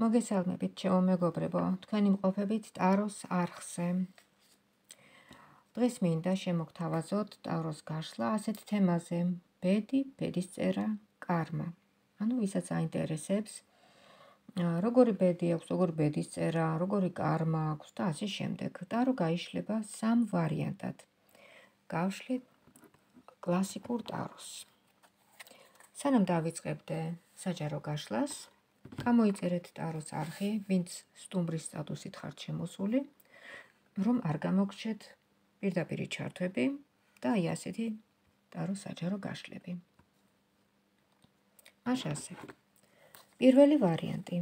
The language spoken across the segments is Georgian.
მოგესალმებით, ჩემო მეგობრებო, თქვენი მყოფებით ტაროს არხზე. დღეს მინდა შემოგთავაზოთ ტაროს გაშლა ასეთ თემაზე: ბედი, ბედისწერა, კარმა. ანუ ვისაც აინტერესებს, როგორი ბედი აქვს, როგორი ბედისწერა, როგორი კარმა აქვს და ასე შემდეგ. ტარო გაიშლება სამ ვარიანტად. გავშლით კლასიკურ ტაროს. სანამ დავიწყებდე საჯარო გაშლას, გამოიწერეთ ტაროს არხი, ვინც სტუმრის სტატუსით ხართ შემოსული, რომ არ გამოგრჩეთ პირდაპირი ჩართვები და აი ასეთი ტაროს საჯარო გაშლები. ასე. პირველი ვარიანტი.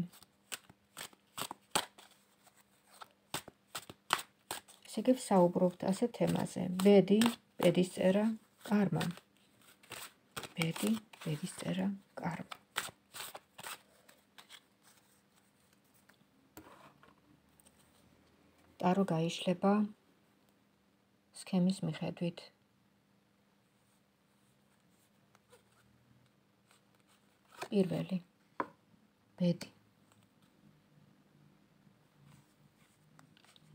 ესე იგი ვსაუბრობთ ასეთ თემაზე: ბედი, ბედისწერა, კარმა. ბედი, ბედისწერა, კარმა. ტარო გაიშლება სქემის მიხედვით. პირველი, ბედი.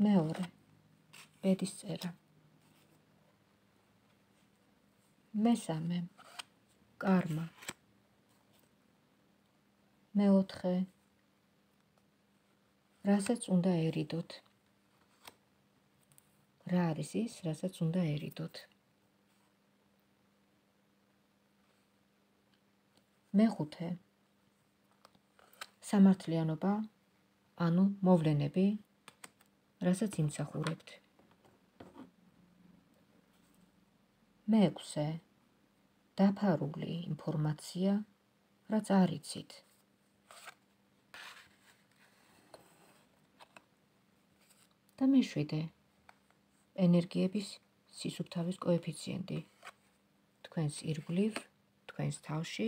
მეორე, ბედისწერა. მესამე, კარმა. მეოთხე, რასაც უნდა ერიდოთ. რა არის ის, რასაც უნდა ერიდოთ? მეხუთე, სამართლიანობა, ანუ მოვლენები, რასაც იმსახურებთ. მეექვსე, დაფარული ინფორმაცია, რაც არ იცით. და მეშვიდე, ენერგიების სისუფთავის კოეფიციენტი. თქვენს ირგვლივ, თქვენს თავში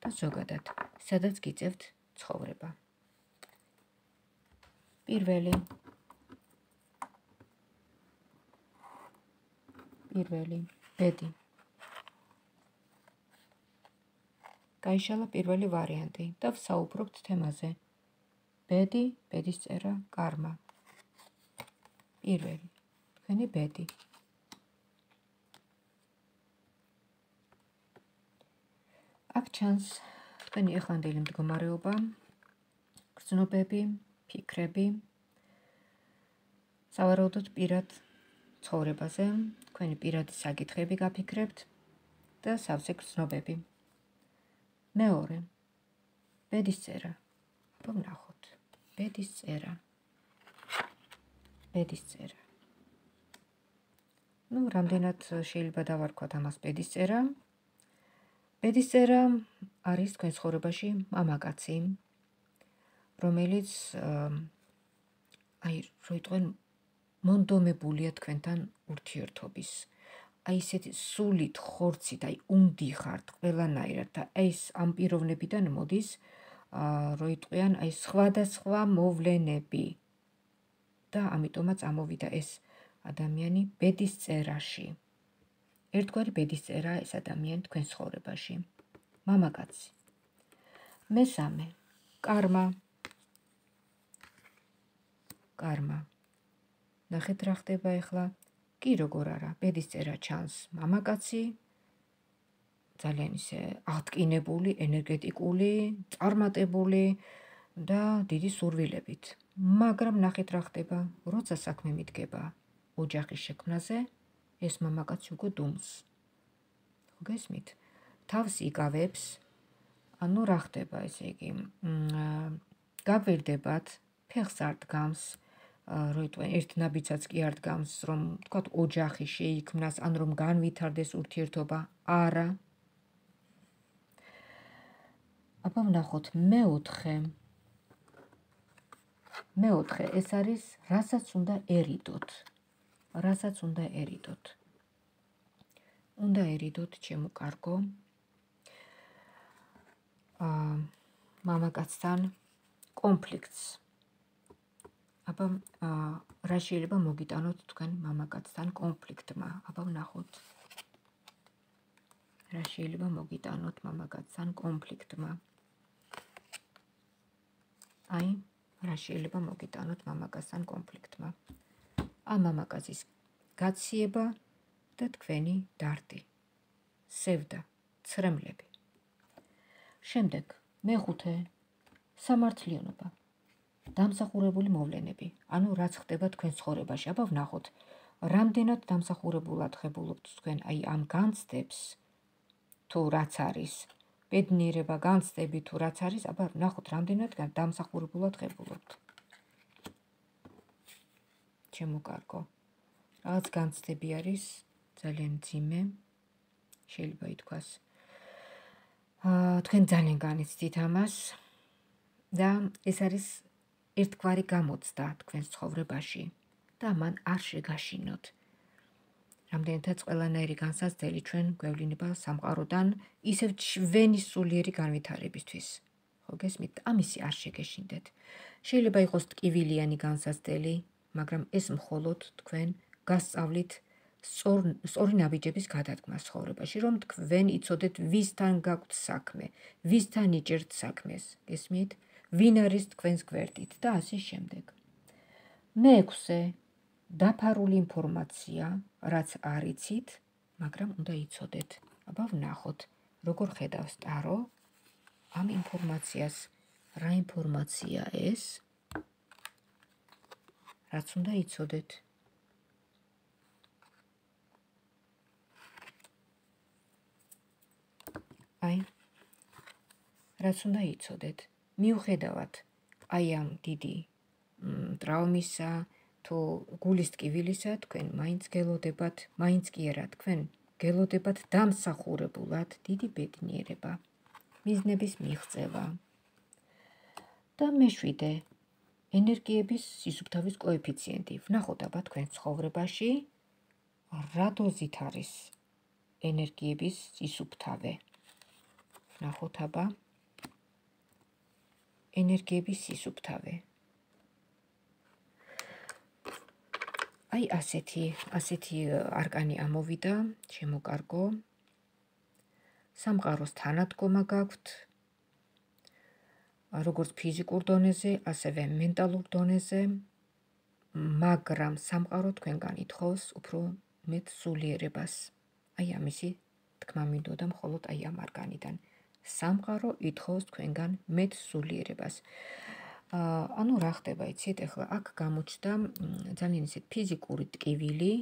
და ზოგადად, სადაც გიწევთ ცხოვრება. პირველი, ბედი. გაიშალა პირველი ვარიანტი და ვსაუბრობთ თემაზე: ბედი, ბედისწერა, კარმა. პირველი, თქვენი ბედი. აქ ჩანს თქვენი ეხანდელი მდგომარეობა, გრძნობები, ფიქრები, სავარაუდოდ პირად ცხოვრებაზე, თქვენი პირადი საკითხები გაფიქრებთ და სავსე გრძნობები. მეორე, ბედისწერა. აბა ვნახოთ. ბედისწერა. ბედისწერა. რამდენად შეიძლება დავარქვათ ამას ბედისწერა? ბედისწერა არის თქვენ ცხოვრებაში მამაკაცი, რომელიც როიტყვენ მონდომებულია თქვენთან ურთიერთობის. ისეთი სულით, ხორცით, უნდიხართ ყველანაირად და ეს ამ პიროვნებიდან მოდის, როიტყვიან სხვადასხვა მოვლენები. და ამიტომაც ამოვიდა ეს ადამიანი ბედისწერაში. ერთგვარი ბედისწერაა ეს ადამიანი თქვენ ცხოვრებაში. მამაკაცი. მესამე, კარმა. კარმა. ნახეთ რა ხდება ახლა. კი როგორ არა, ბედისწერა ჩანს მამაკაცი, ძალიან ისე აღტკინებული, ენერგეტიკული, წარმატებული და დიდი სურვილებით. მაგრამ ნახეთ რა ხდება, როცა საქმე მიდგება ოჯახის შექმნაზე, ეს მამაკაცი უკვე დუმს. გესმით? თავს იკავებს, ანუ რა ხდება, ესე იგი, გაგვირდებათ, ფეხს არ დგამს, როიტყვენ ერთ ნაბიჯსაც კი არ დგამს, რომ თქვათ ოჯახი შეიქმნას, ან რომ განვითარდეს ურთიერთობა, არა. აბა ვნახოთ მეოთხე. მეოთხე, ეს არის რასაც უნდა ერიდოთ. რასაც უნდა ერიდოთ. უნდა ერიდოთ, ჩემო კარგო, მამაკაცთან კონფლიქტს. აბა რა შეიძლება მოგიტანოთ თქვენ მამაკაცთან კონფლიქტმა? აბა ვნახოთ. რა შეიძლება მოგიტანოთ მამაკაცთან კონფლიქტმა? რა შეიძლება მოგიტანოთ მამაკაცთან კონფლიქტმა. ამ მამაკაცის გაციება და თქვენი დარდი, სევდა, ცრემლები. შემდეგ, მეხუთე, სამართლიანობა, დამსახურებული მოვლენები, ანუ რაც ხდება თქვენ ცხოვრებაში. აბა ვნახოთ, რამდენად დამსახურებულად ხებულობთ თქვენ აი ამ განცდებს, თუ რაც არის, ბედნიერება, განცდები თუ რაც არის, აბა ვნახოთ, რამდენად დამსახურებულად ხებულობთ. ჩემო კარგო, რაღაც განცდები არის ძალიან მძიმე, შეიძლება ითქვას. თქვენ ძალიან განიცდით ამას და ეს არის ერთგვარი გამოცდა თქვენს ცხოვრებაში და მან არ შეგაშინოთ. რამდენადაც ყველანაირი განსაცდელი ჩვენ გვევლინება სამყაროდან ისევ ჩვენი სულიერი განვითარებისთვის. ხო გესმით? ამისი არ შეგეშინდეთ. შეიძლება იყოს ტკივილიანი განსაცდელი, მაგრამ ეს მხოლოდ თქვენ გასწავლით სწორი ნაბიჯების გადადგმას ცხოვრებაში, რომ თქვენ იცოდეთ ვისთან გაქვთ საქმე, ვისთან იჭერთ საქმეს, გესმით? ვინ არის თქვენს გვერდით და ასე შემდეგ. მეექვსე, დაფარული ინფორმაცია, რაც არ იცით, მაგრამ უნდა იცოდეთ. აბა ვნახოთ, როგორ ხედავს ტარო ამ ინფორმაციას, რა ინფორმაცია ეს, რაც უნდა იცოდეთ. აი, რაც უნდა იცოდეთ. მიუხედავად აი ამ დიდი ტრავმისა თუ გულის ტკივილისა, თქვენ მაინც გელოდებათ, მაინც კი არა, თქვენ გელოდებათ დამსახურებულად დიდი ბედნიერება, მიზნების მიღწევა. და მეშვიდე, ენერგიების სისუფთავის კოეფიციენტი. ვნახოთ აბა თქვენ ცხოვრებაში რა დოზით არის ენერგიების სისუფთავე. ვნახოთ აბა ენერგიების სისუფთავე. აი ასეთი არკანი ამოვიდა, ჩემო კარგო. სამყაროს თანადგომა გაქვთ, როგორც ფიზიკურ დონეზე, ასევე მენტალურ დონეზე, მაგრამ სამყარო თქვენგან ითხოვს უფრო მეტ სულიერებას. აი ამისი თქმა მინდოდა მხოლოდ აი ამ არკანიდან. სამყარო ითხოვს თქვენგან მეტ სულიერებას. ანუ რა ხდება, იცით, ეხლა აქ გამოჩნდა ძალიან ისეთ ფიზიკური ტკივილი,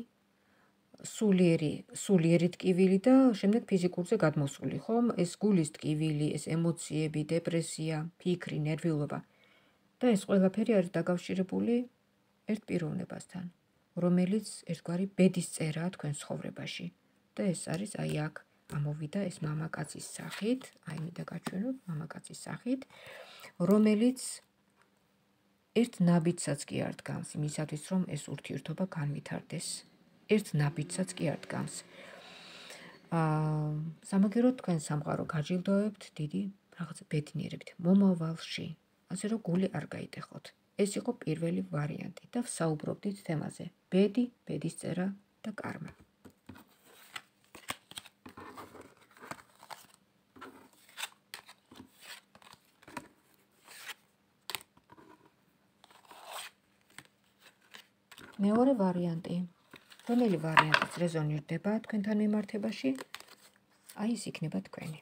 სულიერი ტკივილი და შემდეგ ფიზიკურზე გადმოსული, ხომ? ეს გულის ტკივილი, ეს ემოციები, დეპრესია, ფიქრი, ნერვიულობა. და ეს ყველაფერი არის დაკავშირებული ერთ პიროვნებასთან, რომელიც ერთგვარი ბედის წერაა თქვენ ცხოვრებაში. და ეს არის აი აქ ამოვიდა ეს მამაკაცის სახით, აი მინდა გაჩვენოთ მამაკაცის სახით, რომელიც ერთ ნაბიჯსაც კი არ დგამს იმისათვის, რომ ეს ურთიერთობა განვითარდეს. ერთ ნაბიჯსაც კი არ დგამს. სამაგიეროდ თქვენ სამყარო გაჯილდოვებთ დიდი რაღაც ბედნიერებით მომავალში, ასე რომ გული არ გაიტეხოთ. ეს იყო პირველი ვარიანტი და ვსაუბრობდით თემაზე: ბედი, ბედისწერა და კარმა. მეორე ვარიანტი, რომელი ვარიანტიც რეზონირდება თქვენთან მიმართებაში, აი ეს იქნება თქვენი.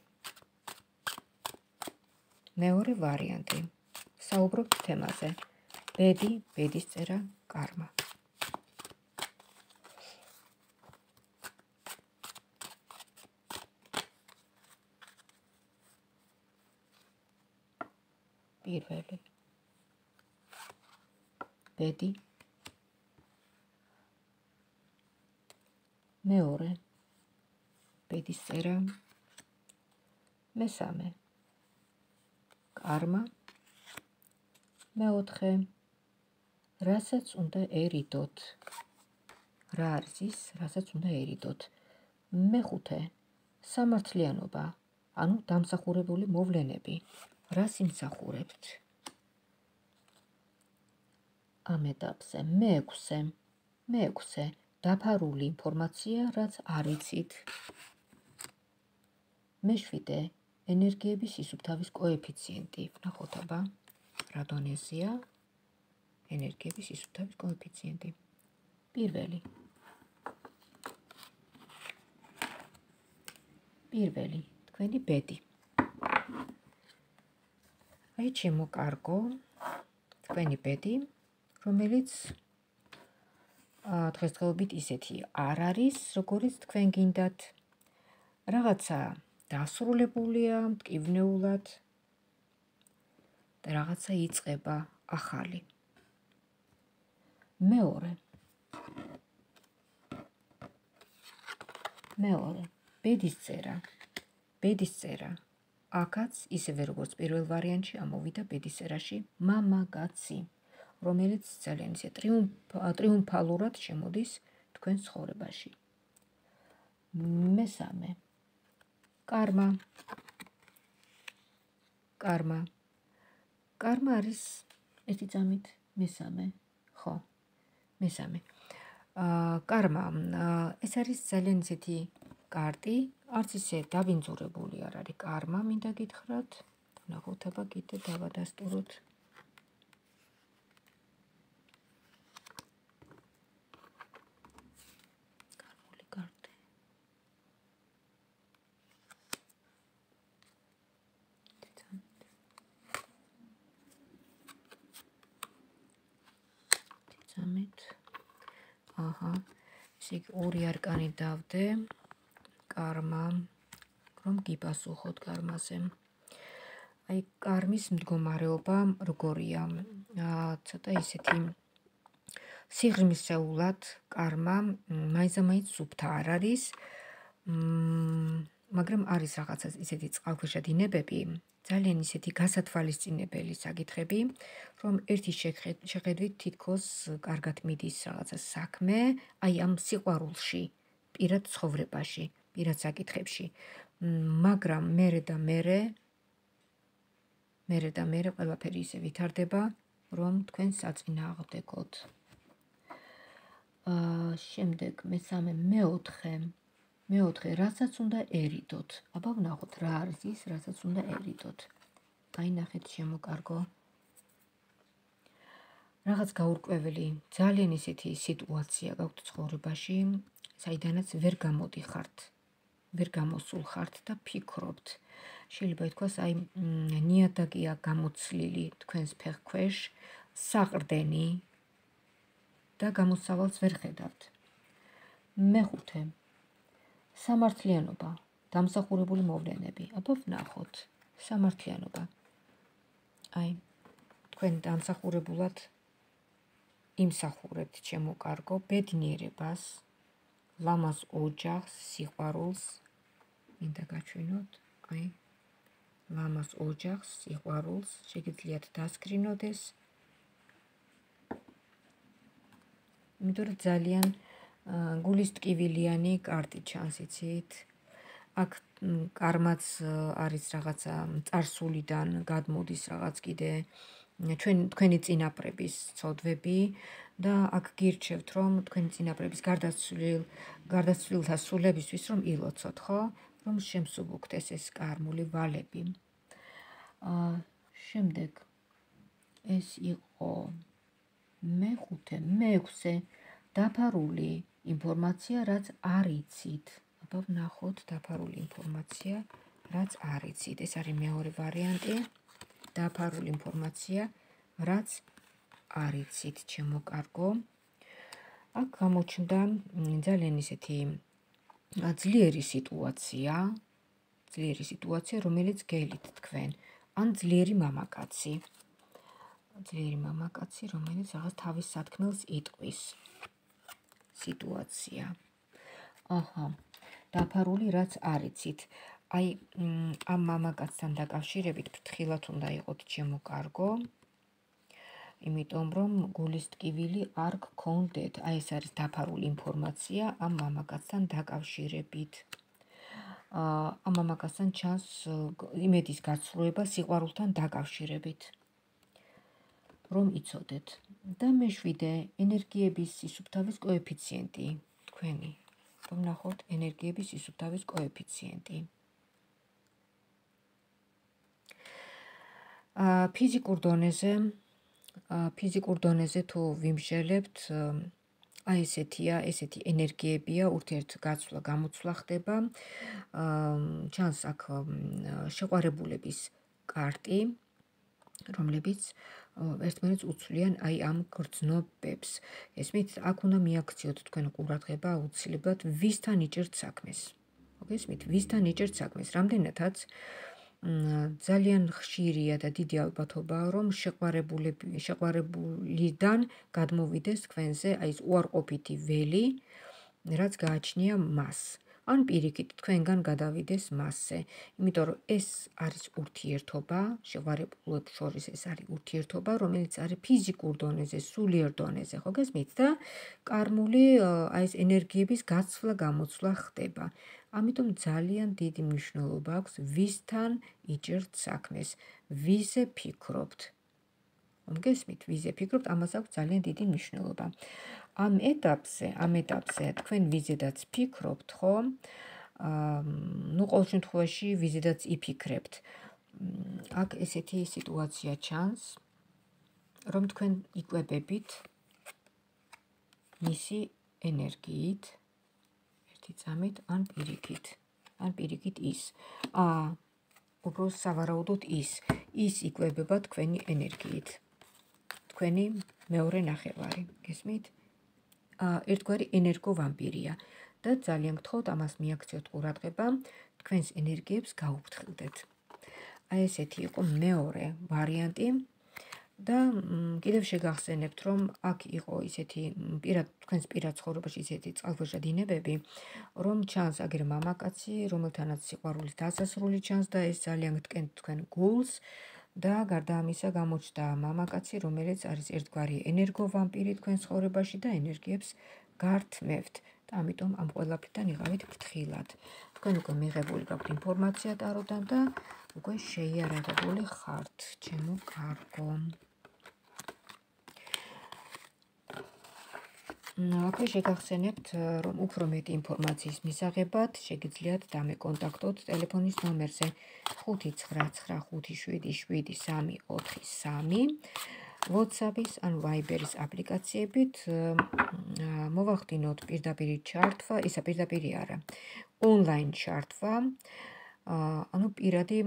მეორე ვარიანტი, საუბრობთ თემაზე: ბედი, ბედისწერა, კარმა. პირველი, ბედი, მეორე, ბედისწერა, მესამე, კარმა, მეოთხე, რასაც უნდა ერიდოთ. რა არის ის, რასაც უნდა ერიდოთ? მეხუთე, სამართლიანობა, ანუ დამსახურებული მოვლენები. რას იმსახურებთ? ამ ეტაპზე მეექვსე, დაფარული ინფორმაცია, რაც არ იცით. მეშვიდე, ენერგიების სისუფთავის კოეფიციენტი. ვნახოთ აბა, რა დონეზეა ენერგიების სისუფთავის კოეფიციენტი. პირველი, თქვენი ბედი. აი შემოკარგო თქვენი ბედი, რომელიც დღესდღეობით ისეთი არ არის, როგორიც თქვენ გინდათ. რაღაცა დასრულებულია მტკივნეულად და რაღაცა იწყება ახალი. მეორე, ბედის წერა. აქაც ისევე როგორც პირველ ვარიანტში ამოვიდა ბედის წერაში მამაკაცი, რომელიც ძალიან ისე ტრიუმფალურად შემოდის თქვენ ცხოვრებაში. მესამე, კარმა. კარმა არის ერთი წამით მესამე, ხო, მესამე. კარმა, ეს არის ძალიან ისეთი კარტი, არც ისე დავინძურებული არ არის კარმა, მინდა გითხრათ, ნახოთ აბა კიდე დავადასტუროთ. კარმული კარტი. აჰა, ისე ორი არკანი დავდე. კარმა, რომ გიპასუხოთ კარმაზე. აი კარმის მდგომარეობა როგორია? ცოტა ისეთი სიღრმისეულად კარმა მაინც სუფთა არ არის, მაგრამ არის რაღაცა ისეთი წყალქვეშა დინებები, ძალიან ისეთი გასათვალისწინებელი საკითხები, რომ ერთი შეხედვით თითქოს კარგად მიდის რაღაცა საქმე, აი ამ სიყვარულში, პირად ცხოვრებაში, პირად საკითხებში, მაგრამ მერე და მერე ყველაფერი ისე ვითარდება, რომ თქვენ საწინააღმდეგოდ. შემდეგ მესამე, მეოთხე, რასაც უნდა ერიდოთ. აბა ვნახოთ რა არის ის, რასაც უნდა ერიდოთ. აი ნახეთ შემოკარგო. რაღაც გაურკვეველი, ძალიან ისეთი სიტუაცია გაქვთ ცხოვრებაში, საიდანაც ვერ გამოდიხართ, ვერ გამოსულ ხართ და ფიქრობთ. შეიძლება ითქვას, აი ნიადაგია გამოცლილი თქვენს ფეხქვეშ, საყრდენი და გამოსავალს ვერ ხედავთ. მეხუთე, სამართლიანობა, დამსახურებული მოვლენები. აბა ვნახოთ, სამართლიანობა. აი, თქვენ დამსახურებულად იმსახურებთ შემოკარგო ბედნიერებას, ლამაზ ოჯახს, სიყვარულს, მინდა გაჩვენოთ, აი, ლამაზ ოჯახს, სიყვარულს, შეგიძლიათ დასკრინოთ ეს. იმიტომ რომ ძალიან გულის ტკივილიანი კარტი ჩანს, იცით? აქ კარმაც არის რაღაცა წარსულიდან გადმოდის რაღაც კიდე თქვენი წინაპრების ცოდვები და აქ გირჩევთ, რომ თქვენი წინაპრების გარდაცვლილთა სულებისთვის რომ ილოცოთ, ხო? რომ შემსუბუქდეს ეს კარმული ვალები. შემდეგ ეს იყო მეექვსე, დაფარული ინფორმაცია, რაც არ იცით. აბა ვნახოთ დაფარული ინფორმაცია, რაც არ იცით. ეს არის მეორე ვარიანტი. დაფარული ინფორმაცია, რაც არ იცით, შემოკარგო. აქ გამოჩნდა ძალიან ისეთი ძლიერი სიტუაცია, რომელიც გელით თქვენ, ან ძლიერი მამაკაცი, რომელიც რაღაც თავის სათქმელს იტყვის სიტუაცია. აჰა, დაფარული, რაც არ იცით. აი, ამ მამაკაცთან დაკავშირებით ფრთხილად უნდა იყოთ შემოკარგო, იმიტომ რომ გულის ტკივილი არ გქონდეთ. აი ეს არის დაფარული ინფორმაცია ამ მამაკაცთან დაკავშირებით. ამ მამაკაცთან ჩანს იმედის გაცვლება სიყვარულთან დაკავშირებით, რომ იცოდეთ. და მეშვიდე, ენერგიების სისუფთავის კოეფიციენტი თქვენი. რომ ნახოთ ენერგიების სისუფთავის კოეფიციენტი. ფიზიკურ დონეზე ფიზიკურ დონეზე თუ ვიმსჯელებთ, აი ესეთი ენერგიებია, ურთიერთგაცვლა, გამოცვლა ხდება. ჩანს აქ შეყვარებულების კარტი, რომლებიც ერთმანეთს უცვლიან აი ამ გრძნობებს. ესმით, აქ უნდა მიაქციოთ თქვენ ყურადღება აუცილებლად, ვისთან იჭერთ საქმეს. მოგესმით, ვისთან იჭერთ საქმეს, რამდენადაც ძალიან ხშირია და დიდი ალბათობაა, რომ შეყვარებულიდან გადმოვიდეს თქვენზე აი ეს უარყოფითი ველი, რაც გააჩნია მას. ან პირიქით თქვენგან გადავიდეს მასზე. იმიტომ რომ ეს არის ურთიერთობა, შეყვარებულებს შორის ეს არის ურთიერთობა, რომელიც არის ფიზიკურ დონეზე, სულიერ დონეზე, ხო გესმით? და კარმული აი ეს ენერგიების გაცვლა, გამოცვლა ხდება. ამიტომ ძალიან დიდი მნიშვნელობა აქვს ვისთან იჭერთ საქმეს, ვიზე ფიქრობთ. მოგესმით, ვიზე ფიქრობთ, ამას აქვს ძალიან დიდი მნიშვნელობა. ამ ეტაპზე თქვენ ვიზედაც ფიქრობთ, ხო? ყოველ შემთხვევაში ვიზედაც იფიქრებთ. აქ ესეთი სიტუაცია ჩანს, რომ თქვენ იკვებებით მისი ენერგიით, ერთი წამით, ან პირიქით ის. უბრალოდ სავარაუდოდ ის იკვებება თქვენი ენერგიით. თქვენი მეორე ნახევარი, გესმით? ერთგვარი ენერგოვამპირია და ძალიან გთხოვთ ამას მიაქციოთ ყურადღება, თქვენს ენერგიებს გაუფრთხილდეთ. აი ესეთი იყო მეორე ვარიანტი და კიდევ შეგახსენებთ, რომ აქ იყო ისეთი თქვენს პირად ცხოვრებაში ისეთი წყალქვეშა დინებები, რომ ჩანს აგერ მამაკაცი, რომელთანაც სიყვარულის დასასრული ჩანს და ეს ძალიან გტკენთ თქვენ გულს და გარდა ამისა გამოჩნდა მამაკაცი, რომელიც არის ერთგვარი ენერგოვამპირი თქვენ ცხოვრებაში და ენერგიებს გართმევთ და ამიტომ ამ ყველაფრიდან იღავით ფრთხილად. თქვენ უკვე მიღებული გაქვთ ინფორმაცია ტაროდან და უკვე შეიარაღებული ხართ, ჩემო კარგო. აქვე შეგახსენებთ, რომ უფრო მეტი ინფორმაციის მისაღებად შეგიძლიათ დამეკონტაქტოთ ტელეფონის ნომერზე 595577343, WhatsApp-ის ან Viber-ის აპლიკაციებით მოვახდინოთ პირდაპირი ჩართვა, ისა პირდაპირი არა, ონლაინ ჩართვა, ანუ პირადი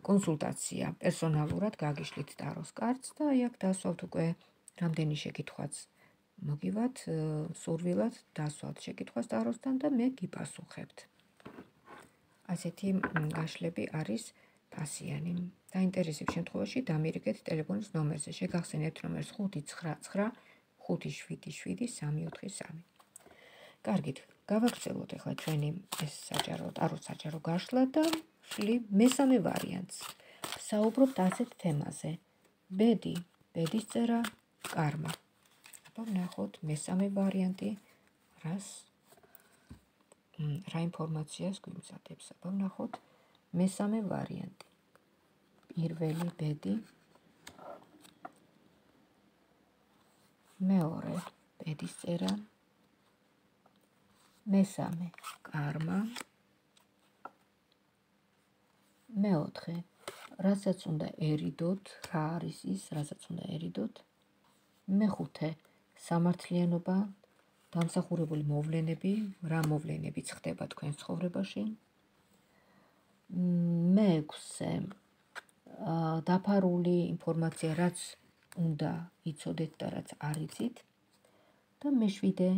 კონსულტაცია, პერსონალურად გაგიშლით ტაროს კარტს და აქ დასვავთ უკვე რამდენი შეკითხვაც მოგივათ, სურვილად დასვავთ შეკითხვას ტაროსთან და მე გიპასუხებთ. ასეთი გაშლები არის ფასიანი. დაინტერესებს შემთხვევაში დამირეკეთ ტელეფონის ნომერზე. შეგახსენებთ ნომერს 599577343. კარგით, გავაგრძელოთ ახლა ჩვენი ეს ტაროს საჯარო გაშლა და მესამე ვარიანტს. საუბრობთ ასეთ თემაზე. ბედის წერა, კარმა. ვნახოთ მესამე ვარიანტი, რა ინფორმაციას გვიმზადებს. ვნახოთ მესამე ვარიანტი. პირველი ბედი, მეორე ბედის წერა, მესამე კარმა, მეოთხე რასაც უნდა ერიდოთ, რა არის ის, რასაც უნდა ერიდოთ, მეხუთე სამართლიანობა, დამსახურებული მოვლენები, რა მოვლენებიც ხდება თქვენ ცხოვრებაში, მეექვსე დაფარული ინფორმაცია, რაც უნდა იცოდეთ და რაც არ იცით და მეშვიდე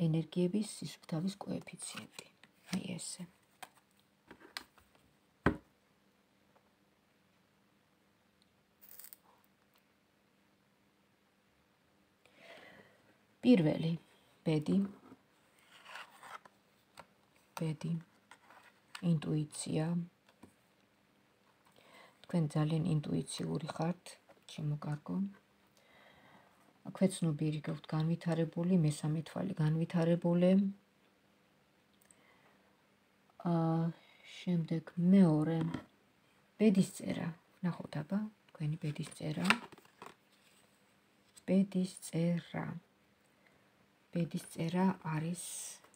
ენერგიების სისუფთავის კოეფიციენტი. აი ესე. პირველი ბედი, ინტუიცია. თქვენ ძალიან ინტუიციური ხართ, ჩემო კარგო. აქვე ცნობიერი გაქვთ განვითარებული, მესამე თვალი განვითარებული. შემდეგ მეორე ბედის წერა. ნახოთ აბა, თქვენი ბედის წერა. ბედის წერა არის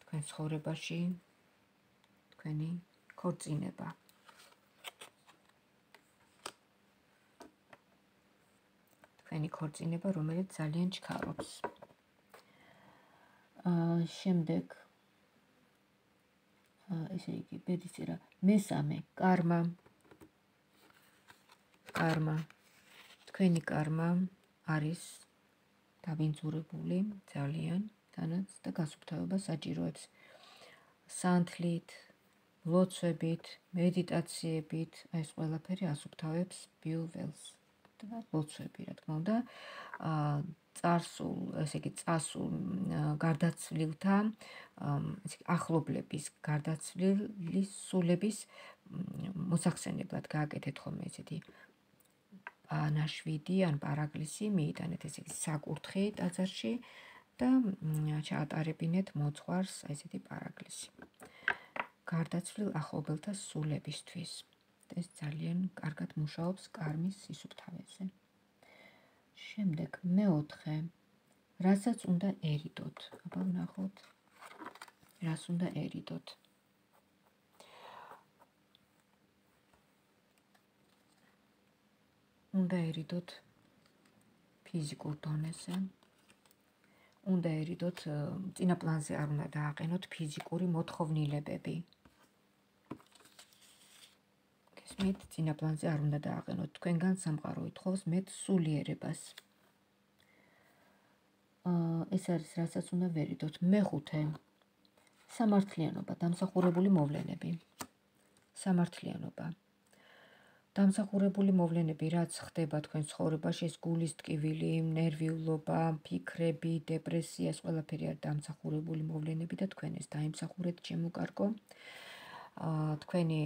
თქვენ ცხოვრებაში თქვენი ქორწინება. თქვენი ქორწინება, რომელიც ძალიან ჩქარობს. შემდეგ ესე იგი ბედისწერა მესამე კარმა. თქვენი კარმა არის დაბინძურებული ძალიან თანაც და გასუფთავებას საჭიროებს სანთლით, ლოცვებით, მედიტაციებით, ეს ყველაფერი ასუფთავებს ბიუველს და ლოცვები, რა თქმა უნდა, წასულ გარდაცვლილთა, ახლობლების გარდაცვლილის სულების მოსახსენებლად გააკეთეთ ხოლმე ესეთი ნაშვიდი ან პარაკლისი, მიიტანეთ ესე იგი საკურთხი ტაძარში და ჩაატარებინეთ მოძღვარს ესეთი პარაკლისი. გარდაცვლილ ახლობელთა სულებისთვის. ეს ძალიან კარგად მუშაობს კარმის სისუფთავეზე. შემდეგ მეოთხე, რასაც უნდა ერიდოთ. აბა ვნახოთ, რას უნდა ერიდოთ. უნდა ერიდოთ ფიზიკურ დონეზე. უნდა ერიდოთ წინა პლანზე არ უნდა დააყენოთ ფიზიკური მოთხოვნილებები. გესმით, წინა პლანზე არ უნდა დააყენოთ. თქვენგან სამყარო ითხოვს მეტ სულიერებას. ეს არის რასაც უნდა ვერიდოთ. მეხუთე, სამართლიანობა, დამსახურებული მოვლენები. სამართლიანობა. დამსახურებული მოვლენები, რაც ხდება თქვენ ცხოვრებაში, ეს გულის ტკივილი, ნერვიულობა, ფიქრები, დეპრესია, ეს ყველაფერი არის დამსახურებული მოვლენები და თქვენ ეს დაიმსახურეთ ჩემო თქვენი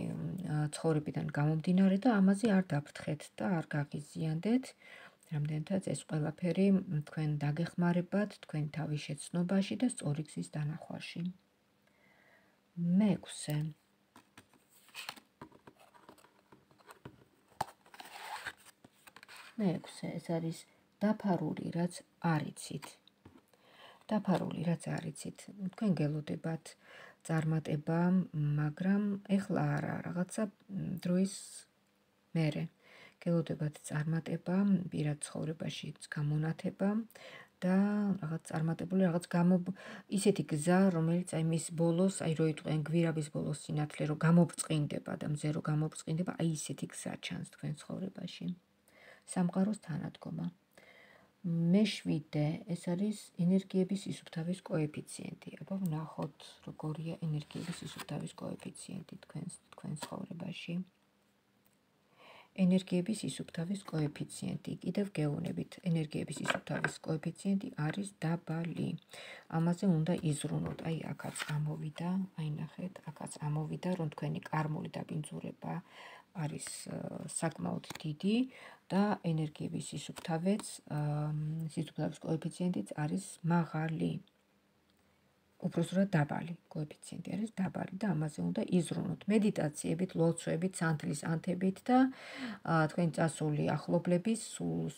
ცხოვრებიდან გამომდინარე და ამაზე არ დაფრთხეთ და არ გაღიზიანდეთ. რამდენადაც ეს ყველაფერი თქვენ დაგეხმარებათ თქვენ თავის შეცნობაში და სწორი გზის დანახვაში. მეექვსე, ეს არის დაფარული, რაც არიცით. დაფარული, რაც არიცით. თქვენ გელოდებათ წარმატება, მაგრამ ეხლა არა, რაღაცა დროის მერე. გელოდებათ წარმატება, პირად ცხოვრებაში გამონათება და რაღაც წარმატებული, რაღაც ისეთი გზა, რომელიც აი მის ბოლოს, აი რო იტყვიან გვირაბის ბოლოს სინათლე, რომ გამობრწყინდება და მზე რო გამობრწყინდება, აი ისეთი გზა ჩანს თქვენ ცხოვრებაში. სამყაროს თანადგომა. მეშვიდე, ეს არის ენერგიების სისუფთავის კოეფიციენტი. აბა ვნახოთ, როგორია ენერგიების სისუფთავის კოეფიციენტი თქვენ ცხოვრებაში. ენერგიების სისუფთავის კოეფიციენტი. კიდევ გეუბნებით, ენერგიების სისუფთავის კოეფიციენტი არის დაბალი. ამაზე უნდა იზრუნოთ. აი, აქაც ამოვიდა, აი ნახეთ, აქაც ამოვიდა, რომ თქვენი კარმული დაბინძურება არის საკმაოდ დიდი და ენერგიების სისუფთავის კოეფიციენტიც არის მაღალი. უпроსტად დაბალი კოეფიციენტი არის დაბალი და ამაზე უნდა იზრუნოთ. მედიტაციებით, ლოცვებით, სანთლის ანთებით და თქვენი წასული ახლობლების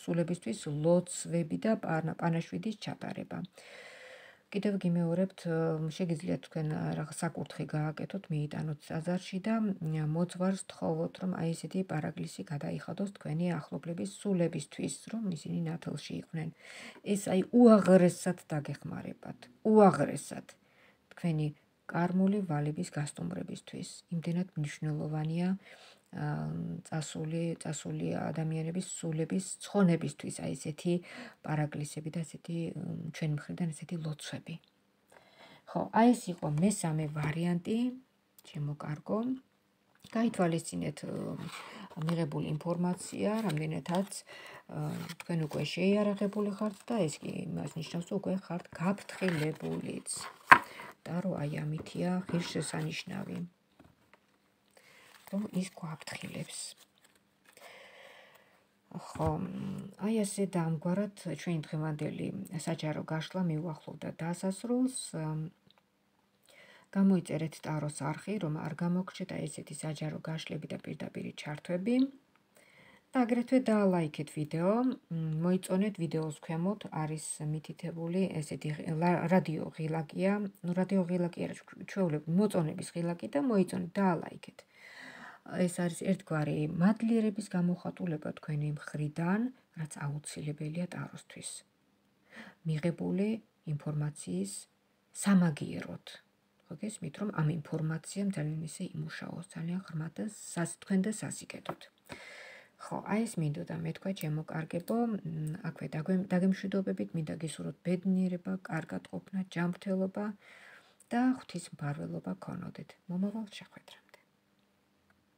სულებისთვის ლოცვები და პანაშვიდის ჩატარება. კიდევ გიმეორებთ, შეგიძლიათ თქვენ რაღაც საკურთხი გააკეთოთ, მიიტანოთ ტაძარში და მოძღვარს თხოვოთ, რომ აი ესეთი პარაკლისი გადაიხადოს თქვენი ახლობლების სულებისთვის, რომ ისინი ნათელში იყვნენ. ეს აი უაღრესად დაგეხმარებათ, უაღრესად თქვენი კარმული ვალების გასტუმრებისთვის. იმდენად მნიშვნელოვანია წასული ადამიანების სულების ცხონებისთვის, აი ესეთი პარაკლისები და ესეთი ჩვენ მხრიდან ესეთი ლოცვები. ხო, აი ეს იყო მესამე ვარიანტი, ჩემო კარგო. გაითვალისწინეთ მიღებული ინფორმაცია, რამდენადაც თქვენ უკვე შეიარაღებული ხართ და ეს კი იმას ნიშნავს, რომ უკვე ხართ გაფრთხილებულიც. და რომ აი ამითია ღირსშესანიშნავი, რომ ის გვაფრთხილებს. ხო, აი ასე დამგვარად ჩვენი დღევანდელი საჯარო გაშლა მიუახლოვდა დასასრულს. გამოიწერეთ ტაროს არხი, რომ არ გამოგრჩეთ აი ესეთი საჯარო გაშლები და პირდაპირი ჩართვები. და აგრეთვე დაალაიქეთ ვიდეო, მოიწონეთ ვიდეოს ქვემოთ არის მითითებული ესეთი რადიო ღილაკია, რადიო ღილაკი არა, ჩვეულებრივ მოწონების ღილაკი და მოიწონეთ, დაალაიქეთ. ეს არის ერთგვარი მადლიერების გამოხატულება თქვენი მხრიდან, რაც აუცილებელია ტაროსთვის. მიღებული ინფორმაციის სამაგიეროდ. ხო გესმით, რომ ამ ინფორმაციამ ძალიან ისე იმუშაოს, ძალიან ღრმად და თქვენ და სასიკეთოდ. ხო, აი ეს მინდოდა მეთქვა ჩემო კარგებო, აქვე დაგემშვიდობებით, მინდა გისურვოთ ბედნიერება, კარგად ყოფნა, ჯანმრთელობა და ღვთისმფარველობა გქონოდეთ. მომავალ შეხვედრამდე.